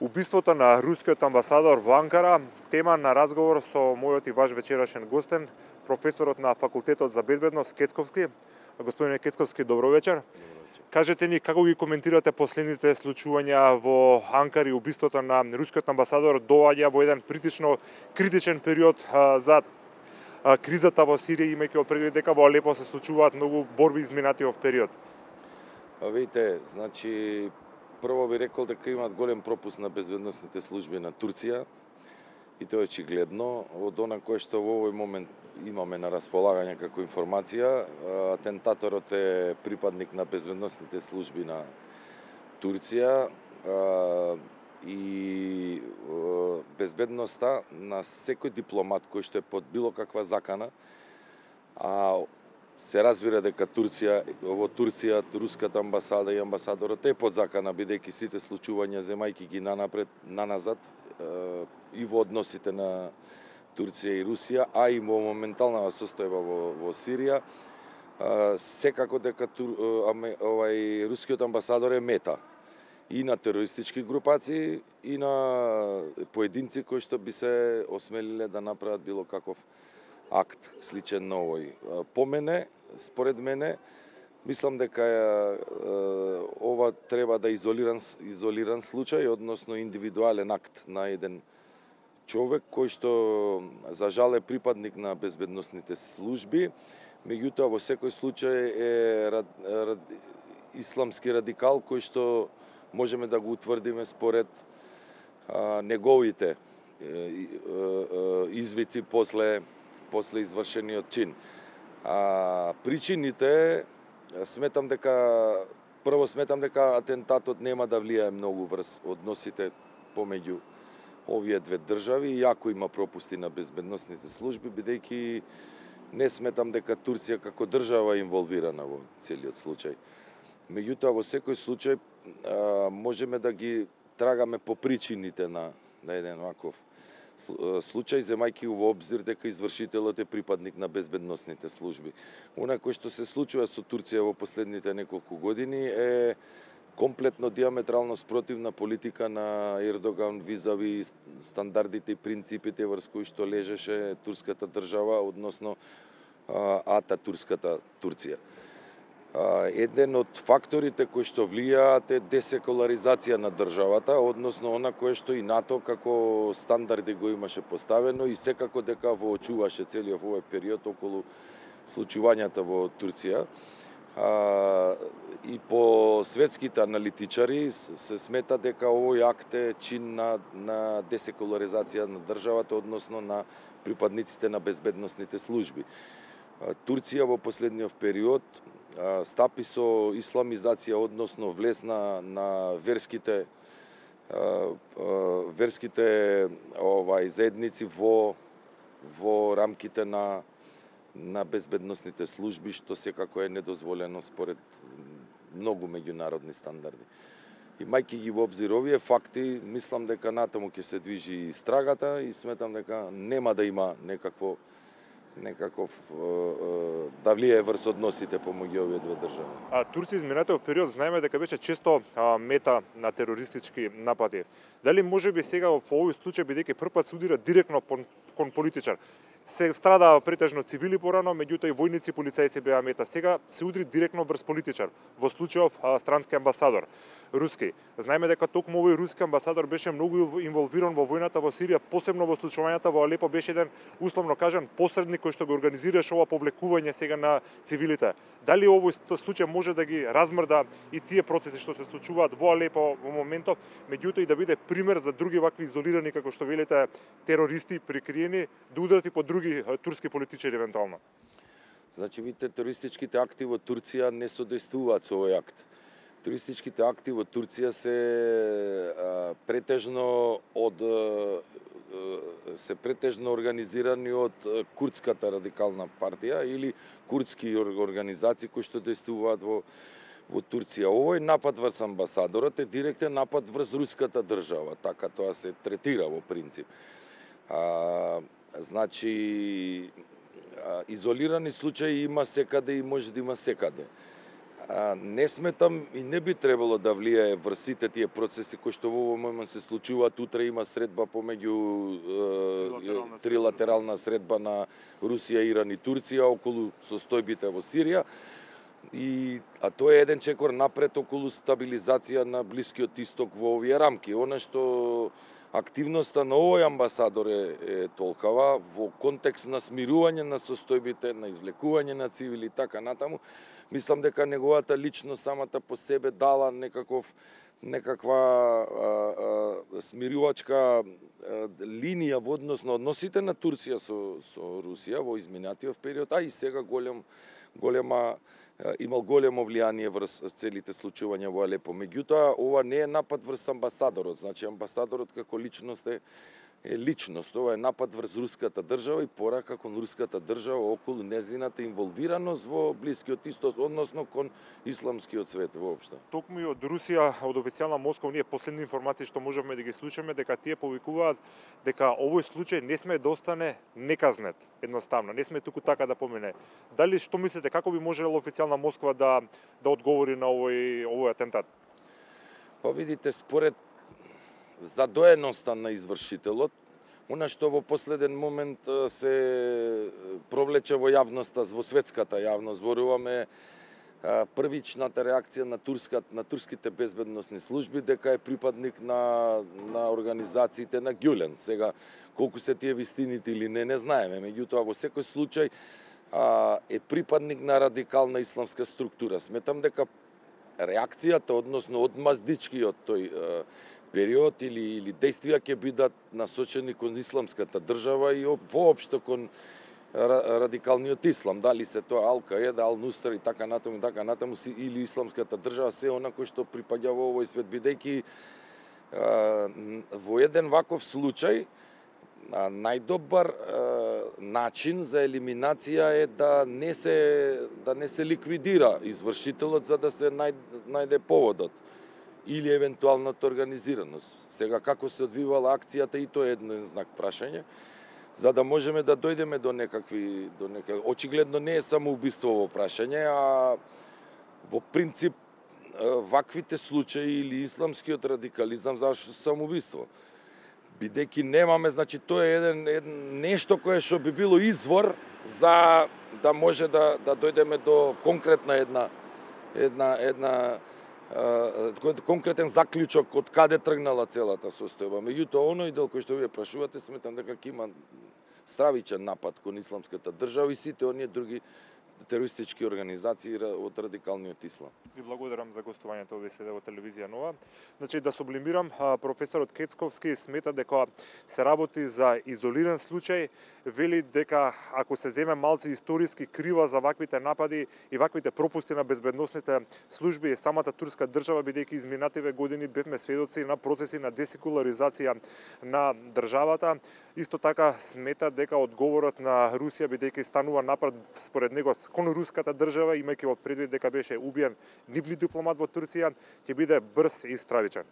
Убиството на рускиот амбасадор во Анкара, тема на разговор со мојот и ваш вечерашен гостен, професорот на Факултетот за безбедност Кецковски. Господине Кецковски, добро вечер. Кажете ни како ги коментирате последните случувања во Анкара и убиството на рускиот амбасадор доаѓа во еден критичен период за кризата во Сирија, имајќи предвид дека во Алепо се случуваат многу борби изминатиот период. Видите, значи прво би рекол дека имаат голем пропуст на безбедносните служби на Турција и тоа е очигледно. Од она кое што во овој момент имаме на располагање како информација, атентаторот е припадник на безбедносните служби на Турција и безбедноста на секој дипломат кој што е под било каква закана, се разбира дека во Турција, руската амбасада и амбасадорот е под закана, бидејќи сите случувања земајќи ги наназад и во односите на Турција и Русија, а и во моменталната состојба во Сирија, секако дека рускиот амбасадор е мета и на терористички групации и на поединци кои што би се осмелиле да направат било каков акт сличен на овој. По мене, според мене, мислам дека ова треба да изолиран случај, односно индивидуален акт на еден човек кој што за жал е припадник на безбедносните служби, меѓутоа во секој случај е исламски радикал кој што можеме да го утврдиме според неговите извици после извршениот чин. Причините, сметам дека атентатот нема да влијае многу врз односите помеѓу овие две држави, иако има пропусти на безбедносните служби, бидејќи не сметам дека Турција како држава е инволвирана во целиот случај. Меѓутоа, во секој случај можеме да ги трагаме по причините на еден ваков случај, земајќи во обзир дека извршителот е припадник на безбедносните служби. Она кој што се случува со Турција во последните неколку години е комплетно диаметрално спротивна политика на Ердоган визави стандардите и принципите врз кои што лежеше турската држава, односно ататурската Турција. Еден од факторите кои што влијаат е десекуларизација на државата, односно она кое што и НАТО како стандарди го имаше поставено и секако дека воочуваше целиот овој период околу случувањата во Турција. И по светските аналитичари се смета дека овој акт е чин на десекуларизација на државата, односно на припадниците на безбедносните служби. Турција во последниот период стапи со исламизација, односно влез на верските заедници во рамките на безбедносните служби, што секако е недозволено според многу меѓународни стандарди. Имајќи ги во обзир овие факти, мислам дека натаму ќе се движи истрагата и сметам дека нема да има некаков да влијае врз односите помеѓу овие две држави. Турција изминатиот период знаеме дека беше често мета на терористички напади. Дали можеби сега во овој случај, бидејќи првпат се удира директно кон политичар, се страдаа претежно цивили порано, меѓутоа и војници и полицајци беа мета. Сега се удри директно врз политичар, во случајов странски амбасадор, руски. Знаеме дека токму овој руски амбасадор беше многу инволвиран во војната во Сирија, посебно во случувањата во Алепо, беше еден, условно кажан, посредник кој што го организираше ова повлекување сега на цивилите. Дали овој случај може да ги размрда и тие процеси што се случуваат во Алепо во моментов, меѓутоа и да биде пример за други вакви изолирани, како што велите, терористи прикриени, да ударат и по други турски политичари евентуално? Значи, видите, терористичките акти во Турција не содействуваат со овој акт. Терористичките акти во Турција се претежно организирани од курдската радикална партија или курдски организации кои што действуваат во Турција. Овој напад врз амбасадорот е директен напад врз руската држава, така тоа се третира во принцип. Значи, изолирани случаи има секаде и може да има секаде. Не сметам и не би требало да влијае врз сите тие процеси кои што во овој момент се случуваат. Утре има средба помеѓу трилатерална средба на Русија, Иран и Турција околу состојбите во Сирија. А тоа е еден чекор напред околу стабилизација на Блискиот Исток во овие рамки. Она што активноста на овој амбасадор е толкава во контекст на смирување на состојбите, на извлекување на цивили и така натаму. Мислам дека неговата личност самата по себе дала некаква смирувачка линија во однос на односите на Турција со Русија во изминатиот период, а и сега имал големо влијание врз целите случувања во Алепо. Меѓутоа, ова не е напад врз амбасадорот. Значи, амбасадорот како личност е личност. Ова е напад врз руската држава и порака кон руската држава околу незината инволвираност во Блискиот Исток, односно кон исламскиот свет воопшто. Токму и од Русија, од официјална Москва, ние последни информации што можеме да ги слушаме, дека тие повикуваат дека овој случај не сме да остане неказнет, едноставно, не сме туку така да помине. Дали што мислите, како би можела официјална Москва да одговори на овој атентат? Па видите, според задоеноста на извршителот, она што во последен момент се провлече во јавноста, во светската јавност, зборуваме првичната реакција на турските безбедносни служби дека е припадник на организациите на Гюлен. Сега, колку се тие вистините или не знаеме, меѓутоа во секој случај е припадник на радикална исламска структура. Сметам дека реакцијата, односно одмаздичкиот тој период или действија ќе бидат насочени кон исламската држава и воопшто кон радикалниот ислам, дали се тоа Ал-Каеда, Ал-Нустра и така натаму или исламската држава, се она кој што припаѓа во овој свет, бидејќи во еден ваков случај најдобар начин за елиминација е да не се ликвидира извршителот за да се најде поводот или евентуалната организираност. Сега како се одвивала акцијата и тоа е еден знак прашање, за да можеме да дојдеме до некакви очигледно не е само убиство во прашање, а во принцип ваквите случаи или исламскиот радикализам зашто самоубиство. Бидејќи немаме, значи тоа е нешто кое што би било извор за да може да дојдеме до конкретна конкретен заклучок од каде тргнала целата состојба. Меѓутоа, оној дел кој што вие прашувате, сметам дека ќе има стравичен напад кон исламската држава и сите оние други терористички организации од радикалниот ислам. Ви благодарам за гостувањето овие следа во телевизија Нова. Значи, да сублимирам, професорот Кецковски смета дека се работи за изолиран случај, вели дека ако се земе малце историски крива за ваквите напади и ваквите пропусти на безбедносните служби и самата турска држава, бидејќи изминативе години бевме сведоци на процеси на десекуларизација на државата. Исто така смета дека одговорот на Русија, бидејќи станува напад според него кон руската држава, имајќи во предвид дека беше убиен нивни дипломат во Турција, ќе биде брз и стравичен.